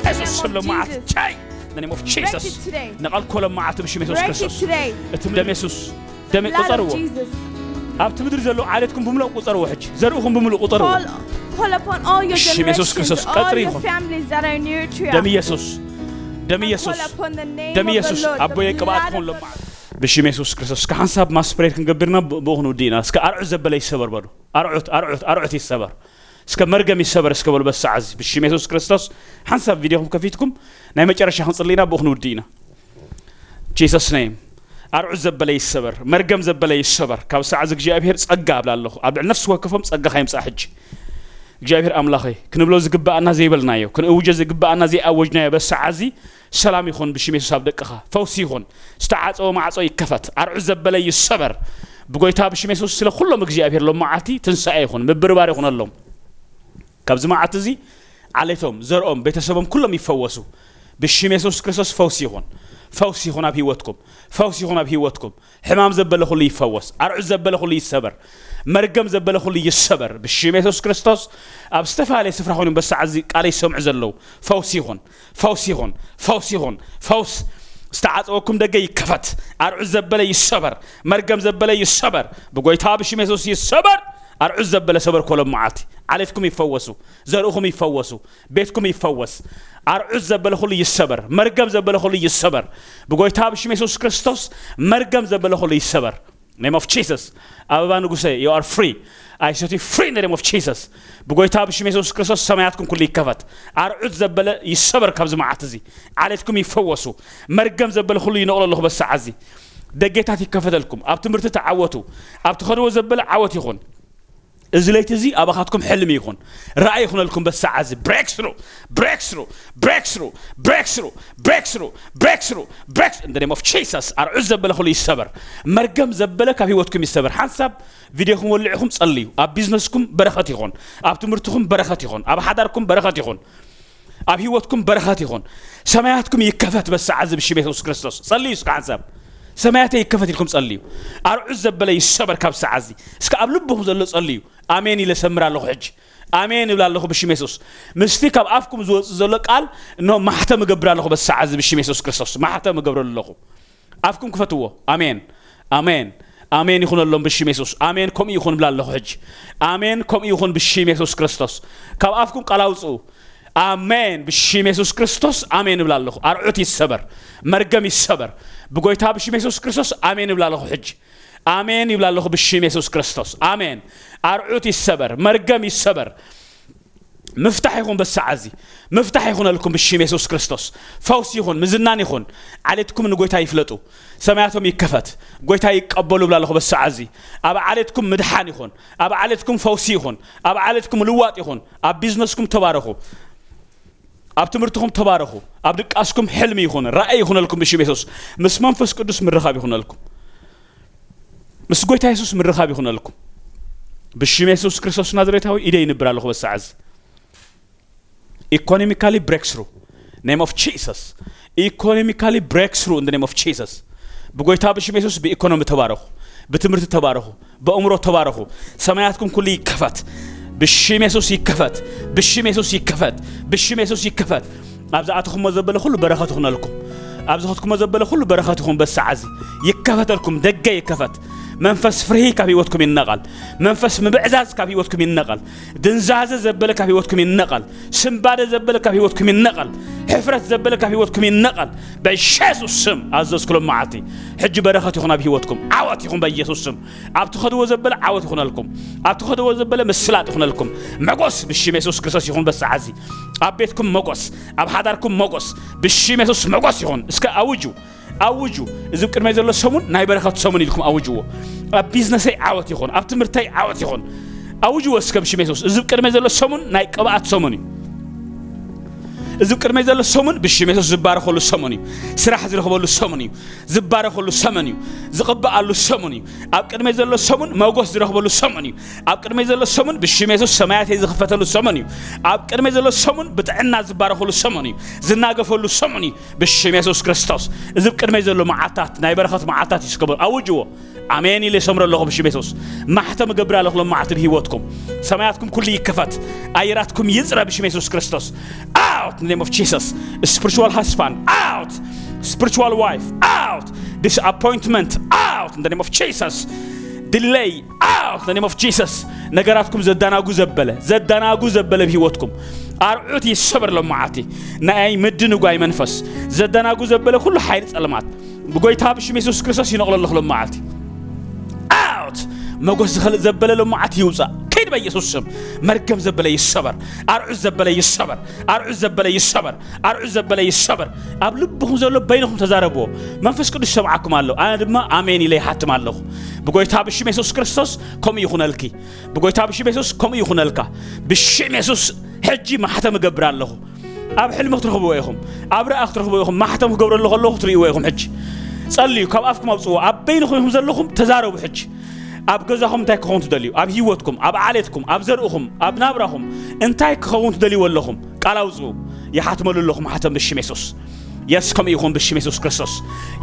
የሱስ ስም ለመዓት ቻይ። In the name of Jesus. ንቓልኮ ለመዓት ብሽም የሱስ ክርስቶስ። እቲ ደም የሱስ ደም ቁጸርዎ። ኣብቲ ምድሪ ዘለዉ ዓሌትኩም ብምሉእ ቁጸርዎ። ሕጂ ዘርእኹም ብምሉእ ቁጸርዎ። ብሽም የሱስ ክርስቶስ ቀጽሪ ይኹን። ደም ኢየሱስ፣ ደም ኢየሱስ፣ ደም ኢየሱስ ኣቦየ ቅብኣት ይኹን ለመዓት። ብሽም የሱስ ክርስቶስ እስከ ሓንሳብ ማስፕሬድ ክንገብርና ብኡ ክንውድእና። እስከ ኣርዑት ዘበለ ይሰበር በሉ። ኣርዑት ኣርዑት ኣርዑት ይሰበር። እስከ መርገም ይሰበር እስከ በሉ በሳዕ እዚ ብሽም የሱስ ክርስቶስ። ሓንሳብ ቪድዮኹም ከፊትኩም ናይ መጨረሻ ክንጽልይና ብኡ ክንውድእና። Jesus name። ኣርዑት ዘበለ ይሰበር፣ መርገም ዘበለ ይሰበር። ካብ ሰዓት እግዚኣብሔር ጸጋ ኣብላ ኣለኹ። ኣብ ልዕሊ ነፍሲ ወከፎም ጸጋኻ ይምጻእ ሕጂ። እግዚኣብሔር ኣምላኸይ ክንብሎ ዝግብኣና ዘይበልናዮ፣ ክንእውጆ ዝግብኣና ዘይኣወጅናዮ በሰዓዚ ሰላም ይኹን ብሽም የሱስ ኣብ ደቅኻ። ፈውሲ ይኹን። ዝተዓጸወ ማዕጾ ይከፈት። ኣርዑት ዘበለ ይሰበር። ብጎይታ ብሽም የሱስ ስለ ኩሎም እግዚኣብሔር ሎም መዓልቲ ትንሳኤ ይኹን፣ ምብርባር ይኹነሎም። ካብዚ መዓልቲ እዚ ዓሌቶም፣ ዘርኦም፣ ቤተሰቦም ኩሎም ይፈወሱ። ብሽም የሱስ ክርስቶስ ፈውሲ ይኹን። ፈውሲ ይኹን ኣብ ህይወትኩም። ፈውሲ ይኹን ኣብ ህይወትኩም። ሕማም ዘበለ ኩሉ ይፈወስ። ኣርዑት ዘበለ ኩሉ ይሰበር። መርገም ዘበለ ኩሉ ይሰበር ብሽም የሱስ ክርስቶስ። ኣብ ዝተፈላለየ ስፍራ ኮይኖም በሰዓት እዚ ቃለይ ይሰምዑ ዘለዉ ፈውሲ ይኹን። ፈውሲ ይኹን። ፈውሲ ይኹን። ፈውስ ዝተዓጸወኩም ደገ ይከፈት። ኣርዑት ዘበለ ይሰበር። መርገም ዘበለ ይሰበር። ብጎይታ ብሽም የሱስ ይሰበር። ኣርዑት ዘበለ ሰበር ኮሎም መዓልቲ ዓሌትኩም ይፈወሱ። ዘርእኹም ይፈወሱ። ቤትኩም ይፈወስ። ኣርዑት ዘበለ ኩሉ ይሰበር። መርገም ዘበለ ኩሉ ይሰበር። ብጎይታ ብሽም የሱስ ክርስቶስ መርገም ዘበለ ኩሉ ይሰበር። Name of Jesus። ኣበባ ንጉሰ you are free። I set you free in the name of Jesus። ብጎይታ ብሽም የሱስ ክርስቶስ ሰማያትኩም ኩሉ ይከፈት። ኣርዑት ዘበለ ይሰበር ካብዚ መዓልቲ እዚ። ዓሌትኩም ይፈወሱ። መርገም ዘበለ ኩሉ ይነቕሎ ኣለኹ በሰዓት እዚ። ደጌታት ይከፈተልኩም። ኣብ ትምህርቲ ተዓወቱ። ኣብ ትኸድዎ ዘበለ ዓወት ይኹን። እዚ ለይቲ እዚ ኣባኻትኩም ሕልሚ ይኹን። ራእይ ይኹነልኩም በሰዓት እዚ። Breakthrough፣ breakthrough፣ breakthrough፣ breakthrough፣ breakthrough፣ breakthrough፣ breakthrough። In the name of Jesus። ኣርዑት ዘበለ ኩሉ ይሰበር። መርገም ዘበለ ካብ ህይወትኩም ይሰበር። ሓንሳብ ቪድዮኹም ወልዕኹም ጸልዩ። ኣብ ቢዝነስኩም በረኸት ይኹን። ኣብ ትምህርትኹም በረኸት ይኹን። ኣብ ሓዳርኩም በረኸት ይኹን። ኣብ ህይወትኩም በረኸት ይኹን። ሰማያትኩም ይከፈት በሰዓት እዚ ብሽም የሱስ ክርስቶስ። ጸልዩ እስከ ሓንሳብ። ሰማያተይ ይከፈት ኢልኩም ጸልዩ። ኣርዑት ዘበለ ይሰበር ካብ ሰዓት እዚ። እስከ ኣብ ልብኹም ዘሎ ጸልዩ። ኣሜን ኢለ ሰምር ኣለኹ ሕጂ። ኣሜን እብል ኣለኹ ብሽም የሱስ። ምስቲ ካብ ኣፍኩም ዝወጽእ ዘሎ ቃል እነሆ ማሕተም እገብር ኣለኹ በሰዓት እዚ ብሽም የሱስ ክርስቶስ። ማሕተም እገብረሉ ኣለኹ። ኣፍኩም ክፈትዎ። ኣሜን። ኣሜን። ኣሜን ይኹነሎም ብሽም የሱስ። ኣሜን ከምኡ ይኹን እብል ኣለኹ ሕጂ። ኣሜን ከምኡ ይኹን ብሽም የሱስ ክርስቶስ። ካብ ኣፍኩም ቃል ኣውጽኡ። ኣሜን ብሽም የሱስ ክርስቶስ ኣሜን እብል ኣለኹ። ኣርዑት ይሰበር። መርገም ይሰበር። ብጎይታ ብሽም የሱስ ክርስቶስ ኣሜን እብል ኣለኹ ሕጂ። ኣሜን ይብል ኣለኹ ብሽም የሱስ ክርስቶስ። ኣሜን። ኣርዑት ይሰበር። መርገም ይሰበር። ምፍታሕ ይኹን በሰዓት እዚ። ምፍታሕ ይኹነልኩም ብሽም የሱስ ክርስቶስ። ፈውሲ ይኹን፣ ምዝናን ይኹን። ዓሌትኩም ንጎይታ ይፍለጡ። ሰማያቶም ይከፈት። ጎይታ ይቀበሉ እብል ኣለኹ በሰዓት እዚ። ኣብ ዓሌትኩም ምድሓን ይኹን። ኣብ ዓሌትኩም ፈውሲ ይኹን። ኣብ ዓሌትኩም ልዋጥ ይኹን። ኣብ ቢዝነስኩም ተባረኹ። ኣብ ትምህርትኹም ተባረኹ። ኣብ ድቃስኩም ሕልሚ ይኹን። ራእይ ይኹነልኩም ብሽም የሱስ። ምስ መንፈስ ቅዱስ ምርኻብ ይኹነልኩም። ምስ ጎይታ የሱስ ምርኻብ ይኹነልኩም። ብሽም የሱስ ክርስቶስ ናዝሬታዊ ኢደ ይንብር ኣለኹ በሰዓት እዚ። Economically breakthrough name of Jesus። Economically breakthrough in the name of Jesus። ብጎይታ ብሽም የሱስ ብኢኮኖሚ ተባረኹ። ብትምህርቲ ተባረኹ። ብእምሮ ተባረኹ። ሰማያትኩም ኩሉ ይከፈት። ብሽም የሱስ ይከፈት። ብሽም የሱስ ይከፈት። ብሽም የሱስ ይከፈት። ኣብ ዝኣተኹሞ ዘበለ ኩሉ በረኸት ይኹነልኩም። ኣብ ዝኸድኩሞ ዘበለ ኩሉ በረኸት ይኹን በሰዓት እዚ። ይከፈተልኩም፣ ደገ ይከፈት። መንፈስ ፍርሂ ካብ ህይወትኩም ይነቐል። መንፈስ ምብዕዛዝ ካብ ህይወትኩም ይነቐል። ድንዛዘ ዘበለ ካብ ህይወትኩም ይነቐል። ስንባደ ዘበለ ካብ ህይወትኩም ይነቐል። ሕፍረት ዘበለ ካብ ህይወትኩም ይነቐል። በኢየሱስ ስም ኣዘዝኩሎም መዓልቲ። ሕጂ በረኸት ይኹን ኣብ ህይወትኩም። ዓወት ይኹን በኢየሱስ ስም። ኣብ ትኸድዎ ዘበለ ዓወት ይኹነልኩም። ኣብ ትኸድዎ ዘበለ ምስላጥ ይኹነልኩም። መጎስ ብሽም የሱስ ክርስቶስ ይኹን በሰዓት እዚ። ኣብ ቤትኩም መጎስ፣ ኣብ ሓዳርኩም መጎስ። ብሽም የሱስ መጎስ ይኹን። እስከ ኣውጁ። ኣውጁ። እዚ ቅድመይ ዘሎ ሰሙን ናይ በረኸት ሰሙን ኢልኩም ኣውጅዎ። ኣብ ቢዝነሰይ ዓወት ይኹን፣ ኣብ ትምህርተይ ዓወት ይኹን። ኣውጅዎ እስከ ብሽም የሱስ። እዚ ቅድመይ ዘሎ ሰሙን ናይ ቅብኣት ሰሙን እዩ። እዚ ቅድመይ ዘሎ ሰሙን ብሽም የሱስ ዝባረኸሉ ሰሙን እዩ። ስራሕ ዝረኽበሉ ሰሙን እዩ። ዝባረኸሉ ሰሙን እዩ። ዝቕብኣሉ ሰሙን እዩ። ኣብ ቅድመይ ዘሎ ሰሙን መጎስ ዝረኽበሉ ሰሙን እዩ። ኣብ ቅድመይ ዘሎ ሰሙን ብሽም የሱስ ሰማያተይ ዝኽፈተሉ ሰሙን እዩ። ኣብ ቅድመይ ዘሎ ሰሙን ብጥዕና ዝባረኸሉ ሰሙን እዩ። ዝናገፈሉ ሰሙን እዩ። ብሽም የሱስ ክርስቶስ። እዚ ቅድመይ ዘሎ መዓልታት ናይ በረኸት መዓልታት እዩ። እስከ ኣውጅዎ። ኣሜን ኢለ ይሰምሮ ኣለኹ ብሽም የሱስ። ማሕተም እገብር ኣለኹ ሎም መዓልቲ ብህይወትኩም። ሰማያትኩም ኩሉ ይከፈት። ኣየራትኩም ይጽረ ብሽም የሱስ ክርስቶስ። ኣው In the name of Jesus. Spiritual husband, out. Spiritual wife, out. Disappointment, out. In the name of Jesus. Delay, out. In the name of Jesus. ነገራትኩም ዘዳናጉ ዘበለ ዘዳናጉ ዘበለ ብህይወትኩም ኣርዑት ይሰበር። ሎማዓቲ ናይ ምድንጓይ መንፈስ ዘዳናጉ ዘበለ ኩሉ ሓይሊ ጸልማት ብጎይታ ብሽም የሱስ ክርስቶስ ይነቕሎ ኣለኹ። ሎማዓቲ ኣውት። መጎስ ዝኸልእ ዘበለ ሎማዓቲ ይውፃእ። ከይድ በኢየሱስ ስም። መርገም ዘበለ ይሰበር። ኣርዑት ዘበለ ይሰበር። ኣርዑት ዘበለ ይሰበር። ኣርዑት ዘበለ ይሰበር። ኣብ ልብኹም ዘሎ በይንኹም ተዛረብዎ። መንፈስ ቅዱስ ይሰምዓኩም ኣሎ። ኣነ ድማ ኣሜን ኢለ ይሓትም ኣለኹ። ብጎይታ ብሽም የሱስ ክርስቶስ ከምኡ ይኹነልኪ። ብጎይታ ብሽም የሱስ ከምኡ ይኹነልካ። ብሽም የሱስ ሕጂ ማሕተም እገብር ኣለኹ። ኣብ ሕልሚ ክትረኽብዎ ኢኹም። ኣብ ርኣ ክትረኽብዎ ኢኹም። ማሕተም ክገብረሉ ከለኹ ትርእይዎ ኢኹም። ሕጂ ጸልዩ፣ ካብ ኣፍኩም ኣውጽዎ። ኣብ በይንኹም ኢኹም ዘለኹም፣ ተዛረቡ። ሕጂ ኣብ ገዛኹም እንታይ ክኸውን ትደልዩ? ኣብ ህይወትኩም፣ ኣብ ዓሌትኩም፣ ኣብ ዘርእኹም፣ ኣብ ናብራኹም እንታይ ክኸውን ትደልይዎ ኣለኹም? ቃል ኣውጽኡ። ይሓትመሉ ኣለኹ ማሕተም ብሽም የሱስ። የስ ከምኡ ይኹን ብሽም የሱስ ክርስቶስ።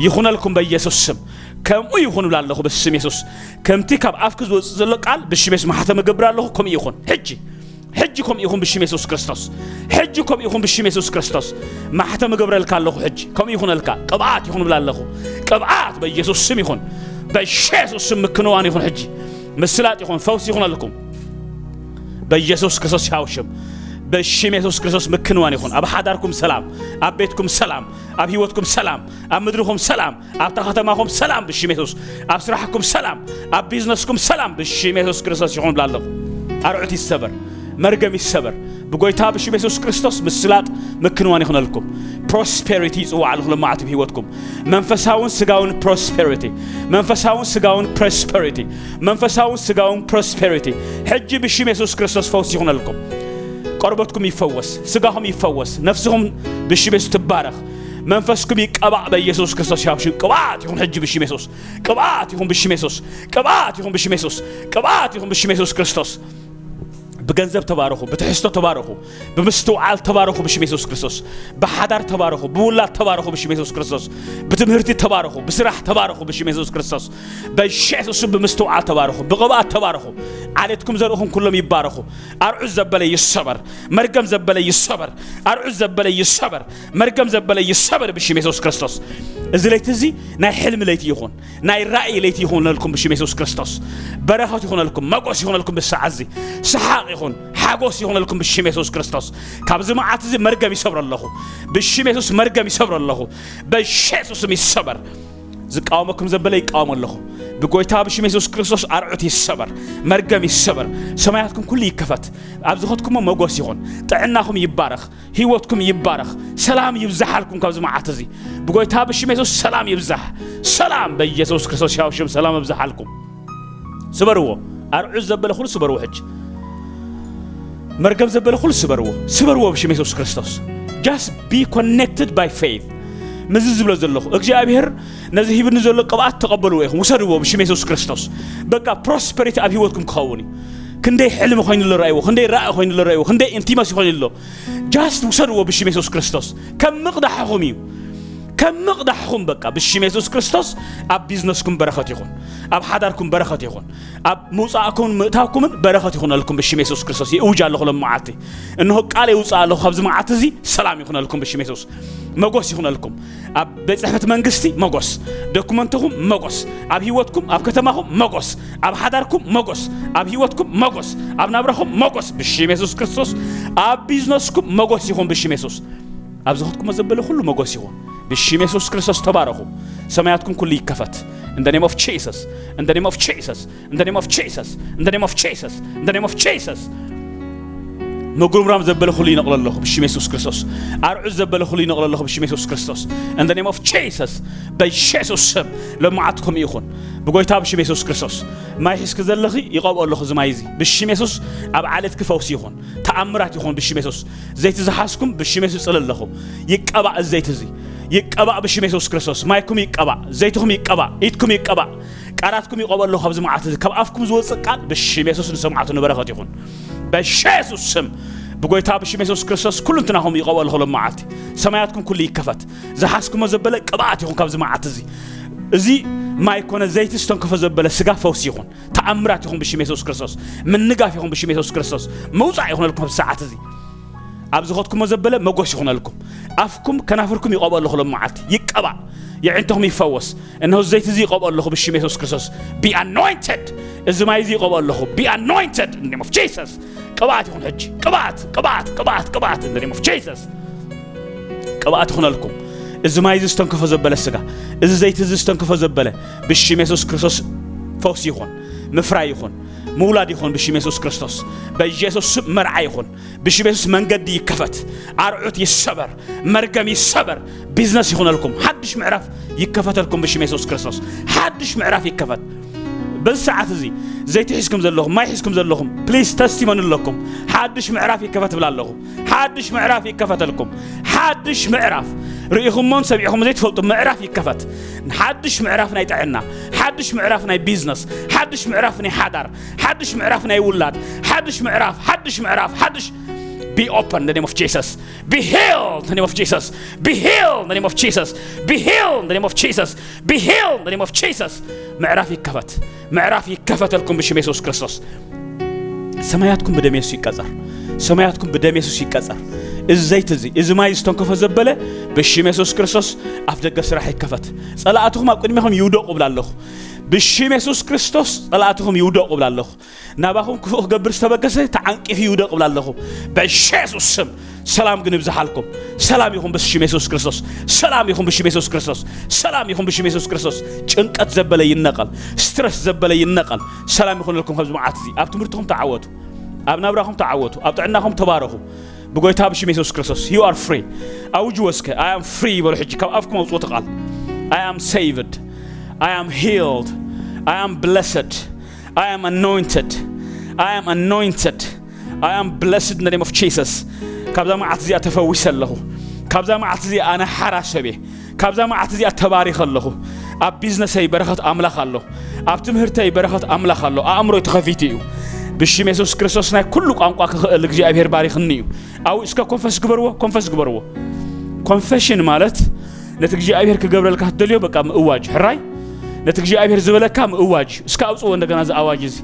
ይኹነልኩም በኢየሱስ ስም። ከምኡ ይኹን እብላ ኣለኹ ብስም የሱስ። ከምቲ ካብ ኣፍኪ ዝወጽእ ዘሎ ቃል ብሽም የሱስ ማሕተም እገብር ኣለኹ። ከምኡ ይኹን። ሕጂ ሕጂ ከምኡ ይኹን ብሽም የሱስ ክርስቶስ። ሕጂ ከምኡ ይኹን ብሽም የሱስ ክርስቶስ። ማሕተም እገብረልካ ኣለኹ። ሕጂ ከምኡ ይኹነልካ። ቅብኣት ይኹን እብላ ኣለኹ። ቅብኣት በኢየሱስ ስም ይኹን። በኢየሱስ ስም ምክንዋን ይኹን። ሕጂ ምስላጥ ይኹን። ፈውሲ ይኹነልኩም። በኢየሱስ ክርስቶስ ሕያው ሽም። ብሽም የሱስ ክርስቶስ ምክንዋን ይኹን። ኣብ ሓዳርኩም ሰላም፣ ኣብ ቤትኩም ሰላም፣ ኣብ ህይወትኩም ሰላም፣ ኣብ ምድርኹም ሰላም፣ ኣብታ ከተማኹም ሰላም ብሽም የሱስ፣ ኣብ ስራሕኩም ሰላም፣ ኣብ ቢዝነስኩም ሰላም ብሽም የሱስ ክርስቶስ ይኹን እብላ ኣለኹ። ኣርዑት ይሰበር፣ መርገም ይሰበር። ብጎይታ ብሽም የሱስ ክርስቶስ ምስላጥ ምክንዋን ይኹነልኩም። ፕሮስፔሪቲ ይጽዋዕ ኣለኹ ሎማዓቲ ብህይወትኩም። መንፈሳውን ስጋውን ፕሮስፔሪቲ፣ መንፈሳውን ስጋውን ፕሮስፔሪቲ፣ መንፈሳውን ስጋውን ፕሮስፔሪቲ። ሕጂ ብሽም የሱስ ክርስቶስ ፈውሲ ይኹነልኩም። ቆርበትኩም ይፈወስ፣ ስጋኹም ይፈወስ፣ ነፍስኹም ብሽም የሱስ ትባረኽ። መንፈስኩም ይቀባእ በኢየሱስ ክርስቶስ ሕያው ሽም። ቅብኣት ይኹን ሕጂ ብሽም የሱስ። ቅብኣት ይኹን ብሽም የሱስ። ቅብኣት ይኹን ብሽም የሱስ። ቅብኣት ይኹን ብሽም የሱስ ክርስቶስ። ብገንዘብ ተባረኹ፣ ብትሕዝቶ ተባረኹ፣ ብምስትውዓል ተባረኹ ብሽም የሱስ ክርስቶስ። ብሓዳር ተባረኹ፣ ብውላድ ተባረኹ ብሽም የሱስ ክርስቶስ። ብትምህርቲ ተባረኹ፣ ብስራሕ ተባረኹ ብሽም የሱስ ክርስቶስ። በየሱስ ስም ብምስትውዓል ተባረኹ፣ ብቕብኣት ተባረኹ። ዓሌትኩም ዘርእኹም ኩሎም ይባረኹ። ኣርዑት ዘበለ ይሰበር፣ መርገም ዘበለ ይሰበር፣ ኣርዑት ዘበለ ይሰበር፣ መርገም ዘበለ ይሰበር ብሽም የሱስ ክርስቶስ። እዚ ለይቲ እዚ ናይ ሕልሚ ለይቲ ይኹን፣ ናይ ራእይ ለይቲ ይኹነልኩም ብሽም የሱስ ክርስቶስ። በረኸት ይኹነልኩም፣ መጎስ ይኹነልኩም። ብሰዓት እዚ ሰሓቕ ይኹን፣ ሓጎስ ይኹነልኩም ብሽም የሱስ ክርስቶስ። ካብዚ መዓት እዚ መርገም ይሰብሮ ኣለኹ። ብሽም የሱስ መርገም ይሰብሮ ኣለኹ። በየሱስ ስም ይሰበር። ዝቃወመኩም ዘበለ ይቃወም ኣለኹ። ብጎይታ ብሽም የሱስ ክርስቶስ ኣርዑት ይሰበር፣ መርገም ይሰበር። ሰማያትኩም ኩሉ ይከፈት። ኣብ ዝኸድኩሞ መጎስ ይኹን፣ ጥዕናኹም ይባረኽ፣ ህይወትኩም ይባረኽ፣ ሰላም ይብዛሓልኩም። ካብዚ መዓት እዚ ብጎይታ ብሽም የሱስ ሰላም ይብዛሕ። ሰላም በኢየሱስ ክርስቶስ ሕያው ሽም ሰላም ይብዛሓልኩም። ስበርዎ። ኣርዑት ዘበለ ኩሉ ስበርዎ። ሕጂ መርገም ዘበለ ኩሉ ስበርዎ። ስበርዎ ብሽም የሱስ ክርስቶስ። Just be connected by faith። ምዚ ዝብሎ ዘለኹ እግዚኣብሔር ነዚ ሂብኒ ዘሎ ቅብኣት ተቐበልዎ ኢኹም። ውሰድዎ ብሽም የሱስ ክርስቶስ። በቃ ፕሮስፐሪቲ ኣብ ህይወትኩም ክኸውን እዩ። ክንደይ ሕልሚ ኮይኑ ኣሎ ራእይዎ፣ ክንደይ ራእይ ኮይኑ ኣሎ ራእይዎ፣ ክንደይ ኢንቲመሲ ኮይኑ ኣሎ። Just ውሰድዎ ብሽም የሱስ ክርስቶስ። ከም ምቕዳሕኹም እዩ። ከም ምቕዳሕኹም በቃ ብሽም የሱስ ክርስቶስ። ኣብ ቢዝነስኩም በረኸት ይኹን፣ ኣብ ሓዳርኩም በረኸት ይኹን፣ ኣብ ምውፃእኩምን ምእታውኩምን በረኸት ይኹነልኩም ብሽም የሱስ ክርስቶስ። ይእውጅ ኣለኹ ሎም መዓልቲ። እንሆ ቃል የውፅእ ኣለኹ። ካብዚ መዓልቲ እዚ ሰላም ይኹነልኩም ብሽም የሱስ። መጎስ ይኹነልኩም። ኣብ ቤት ጽሕፈት መንግስቲ መጎስ፣ ዶኩመንትኹም መጎስ፣ ኣብ ህይወትኩም፣ ኣብ ከተማኹም መጎስ፣ ኣብ ሓዳርኩም መጎስ፣ ኣብ ህይወትኩም መጎስ፣ ኣብ ናብራኹም መጎስ ብሽም የሱስ ክርስቶስ። ኣብ ቢዝነስኩም መጎስ ይኹን ብሽም የሱስ። ኣብ ዝኸድኩሞ ዘበለ ኩሉ መጎስ ይኹን ብሽም የሱስ ክርስቶስ። ተባረኹ። ሰማያትኩም ኩሉ ይከፈት። In the name of Jesus. In the name of Jesus. In the name of Jesus. In the name of Jesus. In the name of Jesus. ምጉርምራም ዘበለ ኩሉ ይነቕሎ ኣለኹ ብሽም የሱስ ክርስቶስ። ኣርዑት ዘበለ ኩሉ ይነቕሎ ኣለኹ ብሽም የሱስ ክርስቶስ። In the name of Jesus. በየሱስ ስም ሎማዓት ከምኡ ይኹን። ብጎይታ ብሽም የሱስ ክርስቶስ። ማይ ሒዝኪ ዘለኺ ይቐብኦ ኣለኹ እዚ ማይ እዚ ብሽም የሱስ። ኣብ ዓለትኪ ፈውሲ ይኹን፣ ተኣምራት ይኹን ብሽም የሱስ። ዘይቲ ዝሓዝኩም ብሽም የሱስ ጽለ ኣለኹ። ይቀባእ እዚ ዘይቲ እዚ። ይቀባእ ብሽም የሱስ ክርስቶስ። ማይኩም ይቀባእ፣ ዘይትኹም ይቀባእ፣ ኢድኩም ይቀባእ። ቃላትኩም ይቐበ ኣለኹ። ካብዚ መዓልቲ እዚ ካብ ኣፍኩም ዝወፅእ ቃል ብሽም የሱስ ንሰማዕቱ ንበረኸት ይኹን። በየሱስ ስም ብጎይታ ብሽም የሱስ ክርስቶስ ኩሉ እንትናኹም ይቐበ ኣለኹ። ሎም መዓልቲ ሰማያትኩም ኩሉ ይከፈት። ዝሓዝኩሞ ዘበለ ቅብኣት ይኹን ካብዚ መዓልቲ እዚ። እዚ ማይ ኮነ ዘይቲ ዝተንከፈ ዘበለ ስጋ ፈውሲ ይኹን። ተኣምራት ይኹን ብሽም የሱስ ክርስቶስ። ምንጋፍ ይኹን ብሽም የሱስ ክርስቶስ። ምውፃእ ይኹነልኩም ኣብዚ ሰዓት እዚ። ኣብ ዝኸድኩሞ ዘበለ መጎስ ይኹነልኩም። ኣፍኩም ከናፍርኩም ይቐብኦ ኣለኹ ሎም መዓልቲ። ይቀባእ። የዕንተኹም ይፈወስ። እነሆ ዘይቲ እዚ ይቐብኦ ኣለኹ ብሽም የሱስ ክርስቶስ። Be anointed። እዚ ማይ እዚ ይቐብኦ ኣለኹ። Be anointed in the name of Jesus። ቅብኣት ይኹን ሕጂ። ቅብኣት፣ ቅብኣት፣ ቅብኣት፣ ቅብኣት in the name of Jesus። ቅብኣት ይኹነልኩም። እዚ ማይ እዚ ዝተንከፎ ዘበለ ስጋ፣ እዚ ዘይቲ እዚ ዝተንከፎ ዘበለ ብሽም የሱስ ክርስቶስ ፈውሲ ይኹን፣ ምፍራይ ይኹን፣ ምውላድ ይኹን ብሽም የሱስ ክርስቶስ። በኢየሱስ ስም መርዓ ይኹን። ብሽም የሱስ መንገዲ ይከፈት፣ ኣርዑት ይሰበር፣ መርገም ይሰበር። ቢዝነስ ይኹነልኩም፣ ሓድሽ ምዕራፍ ይከፈተልኩም ብሽም የሱስ ክርስቶስ። ሓድሽ ምዕራፍ ይከፈት። በዚ ሰዓት እዚ ዘይቲ ሒዝኩም ዘለኹም፣ ማይ ሒዝኩም ዘለኹም፣ ፕሊዝ ተስቲሞኒ ኣለኩም። ሓድሽ ምዕራፍ ይከፈት ብላ ኣለኹ። ሓድሽ ምዕራፍ ይከፈተልኩም። ሓድሽ ምዕራፍ ርኢኹሞን ሰሚዕኹም ዘይትፈልጡ ምዕራፍ ይከፈት። ሓድሽ ምዕራፍ ናይ ጥዕና፣ ሓድሽ ምዕራፍ ናይ ቢዝነስ፣ ሓድሽ ምዕራፍ ናይ ሓዳር፣ ሓድሽ ምዕራፍ ናይ ውላድ፣ ሓድሽ ምዕራፍ፣ ሓድሽ ምዕራፍ፣ ሓድሽ Be open in the name of Jesus. Be healed in the name of Jesus. Be healed in the name of Jesus. Be healed in the name of Jesus. Be healed in the name of Jesus. ምዕራፍ ይከፈት። ምዕራፍ ይከፈተልኩም ብሽም የሱስ ክርስቶስ። ሰማያትኩም ብደም የሱስ ይቀጸር። ሰማያትኩም ብደም የሱስ ይቀጸር። እዚ ዘይቲ እዚ፣ እዚ ማይ ዝተንከፎ ዘበለ ብሽም የሱስ ክርስቶስ ኣፍ ደገ ስራሕ ይከፈት። ጸላእትኹም ኣብ ቅድሚኹም ይውደቑ እብላ ኣለኹ። ብሽም የሱስ ክርስቶስ ጸላእትኹም ይውደቑ እብላ ኣለኹ። ናባኹም ክፉእ ክገብር ዝተበገሰ ተዓንቂፉ ይውደቕ እብላ ኣለኹ። በኢየሱስ ስም ሰላም ግን ይብዝሓልኩም። ሰላም ይኹን ብሽም የሱስ ክርስቶስ። ሰላም ይኹን ብሽም የሱስ ክርስቶስ። ሰላም ይኹን ብሽም የሱስ ክርስቶስ። ጭንቀት ዘበለ ይነቐል። ስትረስ ዘበለ ይነቐል። ሰላም ይኹነልኩም። ኣብዚ መዓት እዚ ኣብ ትምህርትኹም ተዓወቱ፣ ኣብ ናብራኹም ተዓወቱ፣ ኣብ ጥዕናኹም ተባረኹ። ብጎይታ ብሽም የሱስ ክርስቶስ you are free። ኣውጅዎ እስከ። I am free በሉ ሕጂ። ካብ ኣፍኩም ኣውጽዎ እቲ ቃል። I am saved. I am healed. I am blessed. I am anointed. I am anointed. I am blessed in the name of Jesus. ካብዛ መዓት እዚኣ ተፈዊሰ ኣለኹ። ካብዛ መዓት እዚኣ ኣነ ሓራ ሰብ እየ። ካብዛ መዓት እዚኣ ተባሪኸ ኣለኹ። ኣብ ቢዝነሰይ በረኸት ኣምላኽ ኣሎ። ኣብ ትምህርተይ በረኸት ኣምላኽ ኣሎ። ኣእምሮይ ተኸፊቱ እዩ። ብሽም የሱስ ክርስቶስ ናይ ኩሉ ቋንቋ ክኽእል እግዚኣብሔር ባሪኽኒ እዩ። ኣው እስከ ኮንፈስ ግበርዎ፣ ኮንፈስ ግበርዎ። ኮንፌሽን ማለት ነቲ እግዚኣብሔር ክገብረልካ ትደልዮ በቃ ምእዋጅ። ሕራይ ነቲ እግዚኣብሔር ዝበለካ ምእዋጅ። እስከ ኣውጽዎ እንደገና እዚ ኣዋጅ እዚ።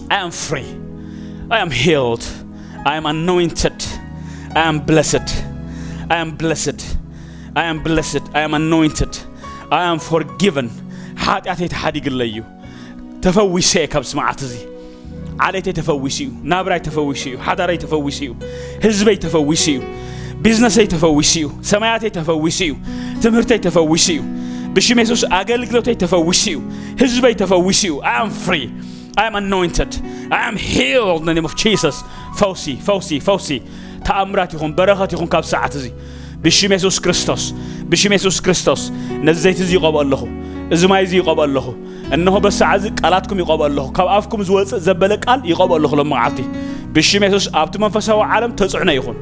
I am free. I am healed. I am anointed. I am blessed. I am blessed. I am blessed. I am anointed. I am forgiven. ሓጢኣተይ ተሓዲግለይ እዩ። ተፈዊሰ እየ ካብዚ መዓት እዚ። ዓሌተይ ተፈዊሱ እዩ። ናብራይ ተፈዊሱ እዩ። ሓዳረይ ተፈዊሱ እዩ። ህዝበይ ተፈዊሱ እዩ። ቢዝነሰይ ተፈዊሱ እዩ። ሰማያተይ ተፈዊሱ እዩ። ትምህርተይ ተፈዊሱ እዩ። ብሽም የሱስ ኣገልግሎተይ ተፈዊሱ እዩ። ህዝበይ ተፈዊሱ እዩ። I am free. I am anointed. I am healed in the name of Jesus. ፈውሲ፣ ፈውሲ፣ ፈውሲ። ተኣምራት ይኹን፣ በረኸት ይኹን ካብ ሰዓት እዚ። ብሽም የሱስ ክርስቶስ፣ ብሽም የሱስ ክርስቶስ። ነዚ ዘይቲ እዚ ይቐብኦ ኣለኹ። እዚ ማይ እዚ ይቐብኦ ኣለኹ። እነሆ በሰዓት እዚ ቃላትኩም ይቐብኦ ኣለኹ። ካብ ኣፍኩም ዝወጽእ ዘበለ ቃል ይቐብኦ ኣለኹ ሎም መዓልቲ። ብሽም የሱስ ኣብቲ መንፈሳዊ ዓለም ተጽዕኖ ይኹን።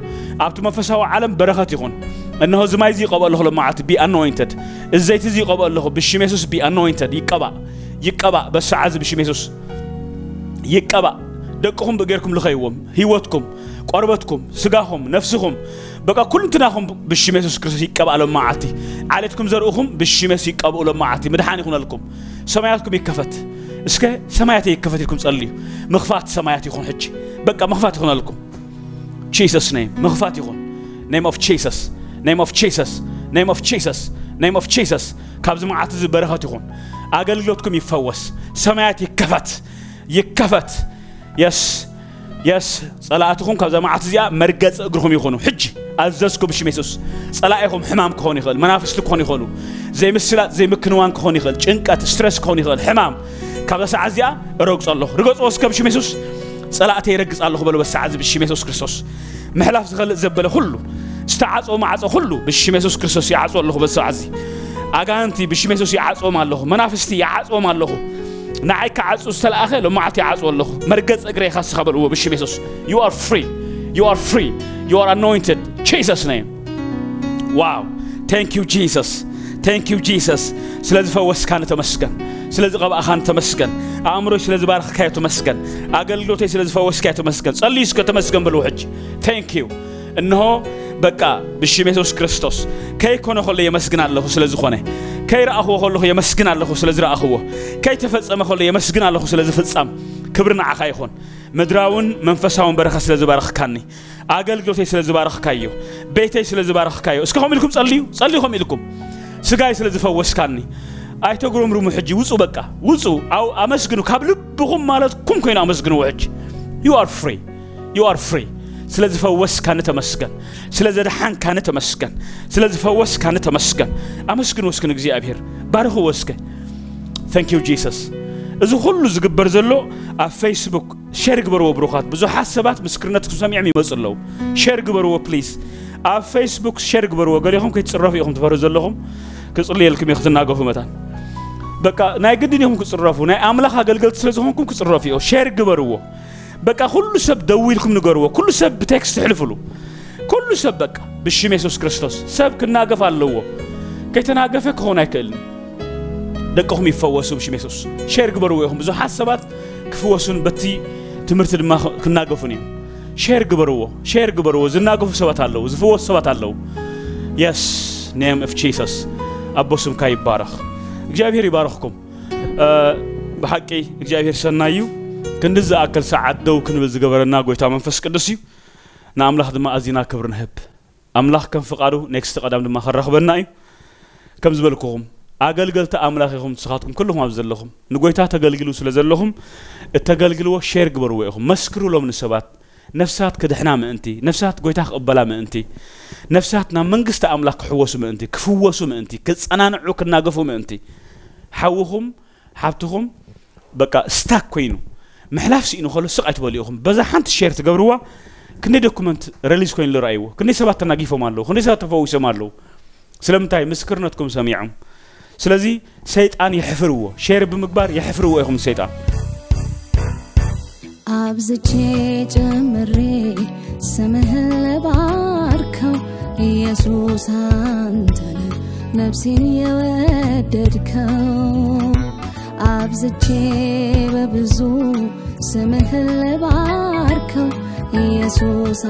ኣብቲ መንፈሳዊ ዓለም በረኸት ይኹን። እነሆ እዚ ማይ እዚ ይቐብኦ ኣለኹ ሎም መዓልቲ። Be anointed። እዚ ዘይቲ እዚ ይቐብኦ ኣለኹ። ብሽም የሱስ be anointed። ይቀባእ። ይቀባእ። በሰዓት እዚ ብሽም የሱስ ይቀባእ። ደቅኹም ብእገርኩም ልኸይዎም። ህይወትኩም፣ ቆርበትኩም፣ ስጋኹም፣ ነፍስኹም፣ በቃ ኩልንትናኹም ብሽም የሱስ ክርስቶስ ይቀባእ ሎም መዓልቲ። ዓሌትኩም ዘርእኹም ብሽም የሱስ ይቀብኡ ሎም መዓልቲ። ምድሓን ይኹነልኩም። ሰማያትኩም ይከፈት። እስከ ሰማያት ይከፈት ኢልኩም ጸልዩ። ምኽፋት ሰማያት ይኹን ሕጂ። በቃ ምኽፋት ይኹነልኩም። Jesus name። ምኽፋት ይኹን። Name of Jesus። Name of Jesus። Name of Jesus። Name of Jesus። ካብዚ መዓልቲ እዚ በረኸት ይኹን። ኣገልግሎትኩም ይፈወስ። ሰማያት ይከፈት። ይከፈት። የስ፣ የስ። ጸላእትኹም ካብዛ መዓልቲ እዚኣ መርገጺ እግርኹም ይኹኑ። ሕጂ ኣዘዝኩ ብሽም የሱስ። ጸላኢኹም ሕማም ክኾን ይኽእል፣ መናፍስቲ ክኾን ይኽእሉ፣ ዘይምስላጥ ዘይምክንዋን ክኾን ይኽእል፣ ጭንቀት ስትረስ ክኾን ይኽእል፣ ሕማም ካብዛ ሰዓት እዚኣ እረግጾ ኣለኹ። ርገጽዎ እስከ ብሽም የሱስ። ጸላእተይ ይረግጽ ኣለኹ በሉ በዚ ሰዓት እዚ ብሽም የሱስ ክርስቶስ። ምሕላፍ ዝኸልእ ዘበለ ኩሉ፣ ዝተዓጽወ ማዕጾ ኩሉ ብሽም የሱስ ክርስቶስ ይዓጽዎ ኣለኹ በዚ ሰዓት እዚ። ኣጋንንቲ ብሽም የሱስ ይዓጽዎም ኣለኹ። መናፍስቲ ይዓጽዎም ኣለኹ። ንዓይ ክዓጹ ዝተለኣኸ ሎማዓልቲ ይዓጽዎ ኣለኹ። መርገጽ እግረይ ኢኻ ንስኻ በልዎ ብሽም የሱስ። You are free. You are free. You are anointed. Jesus name. Wow. Thank you Jesus. Thank you Jesus. ስለ ዝፈወስካኒ ተመስገን። ስለ ዝቐባእኻኒ ተመስገን። ኣእምሮይ ስለ ዝባረኽካዮ ተመስገን። ኣገልግሎተይ ስለ ዝፈወስካዮ ተመስገን። ጸልዩ እስከ ተመስገን በልዎ ሕጂ። Thank you. እንሆ በቃ ብሽም የሱስ ክርስቶስ ከይኮነ ከሎ የመስግን ኣለኹ ስለ ዝኾነ፣ ከይረኣኽዎ ከለኹ የመስግን ኣለኹ ስለ ዝረኣኽዎ፣ ከይተፈጸመ ከሎ የመስግን ኣለኹ ስለ ዝፍጸም። ክብሪ ንዓኻ ይኹን። ምድራውን መንፈሳውን በረኸት ስለ ዝባረኽካኒ፣ ኣገልግሎተይ ስለ ዝባረኽካዮ፣ ቤተይ ስለ ዝባረኽካዮ፣ እስከ ከምኡ ኢልኩም ጸልዩ፣ ጸልዩ ከምኡ ኢልኩም። ስጋይ ስለ ዝፈወስካኒ ኣይተጉረምርሙ። ሕጂ ውጹ፣ በቃ ውጹ። ኣው ኣመስግኑ፣ ካብ ልብኹም ማለትኩም ኮይኑ ኣመስግንዎ። ሕጂ you are free, you are free። ስለ ዝፈወስካኒ ተመስገን፣ ስለ ዘድሓንካኒ ተመስገን፣ ስለ ዝፈወስካኒ ተመስገን። ኣመስግንዎ እስኪ ንእግዚኣብሔር፣ ባርኽዎ እስከ። Thank you Jesus። እዚ ኩሉ ዝግበር ዘሎ ኣብ ፌስቡክ ሼር ግበርዎ ብሩኻት። ብዙሓት ሰባት ምስክርነትኩም ሰሚዖም ይመጹ ኣለዉ። ሼር ግበርዎ ፕሊዝ። ኣብ ፌስቡክ ሼር ግበርዎ። ገሊኹም ከይትጽረፉ ኢኹም ትፈርሁ ዘለኹም። ክጽልየልኩም እየ ክትናገፉ መታን። በቃ ናይ ግድን ኢኹም ክጽረፉ። ናይ ኣምላኽ ኣገልገልቲ ስለ ዝኾንኩም ክጽረፉ ኢኹም። ሼር ግበርዎ። በቃ ኩሉ ሰብ ደዊልኩም ንገርዎ። ኩሉ ሰብ ብቴክስት ትሕልፍሉ። ኩሉ ሰብ በቃ ብሽም የሱስ ክርስቶስ ሰብ ክናገፍ ኣለዎ። ከይተናገፈ ክኸውን ኣይክእልን። ደቅኹም ይፈወሱ ብሽም የሱስ። ሼር ግበርዎ ኢኹም። ብዙሓት ሰባት ክፍወሱን በቲ ትምህርቲ ድማ ክናገፉን እዮም። ሼር ግበርዎ፣ ሼር ግበርዎ። ዝናገፉ ሰባት ኣለዉ፣ ዝፍወሱ ሰባት ኣለዉ። Yes, name of Jesus። ኣቦ ስምካ ይባረኽ። እግዚኣብሔር ይባረኽኩም። እ፣ ብሓቂ እግዚኣብሔር ሰናይ እዩ። ክንዲ ዝኣክል ሰዓት ደው ክንብል ዝገበረና ጎይታ መንፈስ ቅዱስ እዩ። ንኣምላኽ ድማ ኣዚና ክብሪ ንህብ። ኣምላኽ ከም ፍቓዱ ኔክስት ቀዳም ድማ ከራኽበና እዩ። ከም ዝበልኩኹም ኣገልገልቲ ኣምላኽ ኢኹም። ንስኻትኩም ኩልኹም ኣብዚ ዘለኹም ንጎይታ ተገልግሉ ስለ ዘለኹም እተገልግልዎ ሼር ግበርዎ ኢኹም። መስክሩሎም ንሰባት። ነፍሳት ክድሕና ምእንቲ፣ ነፍሳት ጎይታ ክቕበላ ምእንቲ፣ ነፍሳት ናብ መንግስቲ ኣምላኽ ክሕወሱ ምእንቲ፣ ክፍወሱ ምእንቲ፣ ክጸናንዑ ክናገፉ ምእንቲ። ሓውኹም ሓብትኹም በቃ ስታክ ኮይኑ ምሕላፍ ስኢኑ ከሎ ስቕ ኣይትበሉ ኢኹም። በዛ ሓንቲ ሼር ትገብርዋ ክንደይ ዶኩመንት ረሊዝ ኮይኑ ዝረኣይዎ፣ ክንደይ ሰባት ተናጊፎም ኣለዉ፣ ክንደይ ሰባት ተፈዊሶም ኣለዉ። ስለምንታይ? ምስክርነትኩም ሰሚዖም። ስለዚ ሰይጣን የሕፍርዎ፣ ሼር ብምግባር የሕፍርዎ ኢኹም ሰይጣን። አብዝቼ ጨምሬ ስምህን ልባርከው ኢየሱስ አንተነ ነፍሴን የወደድከው። አብዝቼ በብዙ ስምህን ልባርከው ኢየሱስ